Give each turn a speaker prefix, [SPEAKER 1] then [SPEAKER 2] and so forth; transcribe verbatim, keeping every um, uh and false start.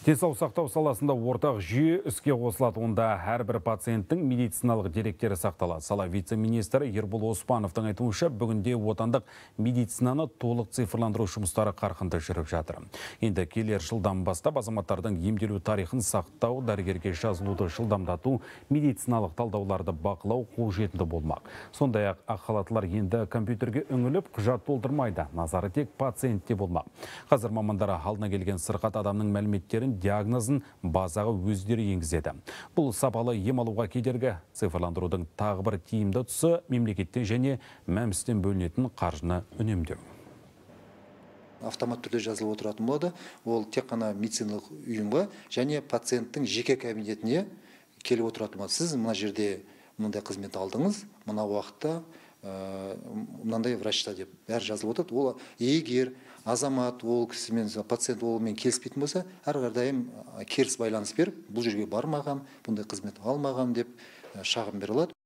[SPEAKER 1] Денсаулық сақтау саласында ортақ жүйе іске қосылады. Онда әрбір пациенттің медициналық деректері сақталады. Сала вице-министрі Ербол Оспановтың айтуынша, бүгінде отандық медицинаны толық цифрландыру жұмыстары қарқынды жүріп жатыр. Енді келер жылдан бастап азаматтардың емделу тарихын сақтау, дәрігерге жазылуды жылдамдату, медициналық талдауларды бақылау қолжетімді болмақ. Сондай-ақ ақ халаттылар енді компьютерге үңіліп құжат толтырмайды. Назары тек пациентте болмақ. Қазір мамандары алдына келген сырқат адамның мәліметтерін, диагнозын базаға өздері енгізеді. Бұл сапалы ем алуға кедергі. Цифрландырудың тағы бір тиімді тұсы мемлекеттен және мәмістен бөлінетін қаржыны үнемдеу.
[SPEAKER 2] Автомат түрде жазылып отыратын болады. Ол тек қана медициналық ұйымға және пациенттің жеке кабинетіне келіп отыратын болады. Сіз мына жерде мынандай қызмет алдыңыз, мына уақытта мынандай врачта деп бәрі жазылып отырады. Ол егер азамат ол кісімен, пациент олмен келіспейтін болса, әрқашан керіс байланыс беріп, бұл жерге бармаған, бұндай қызмет алмаған деп шағым бере алады.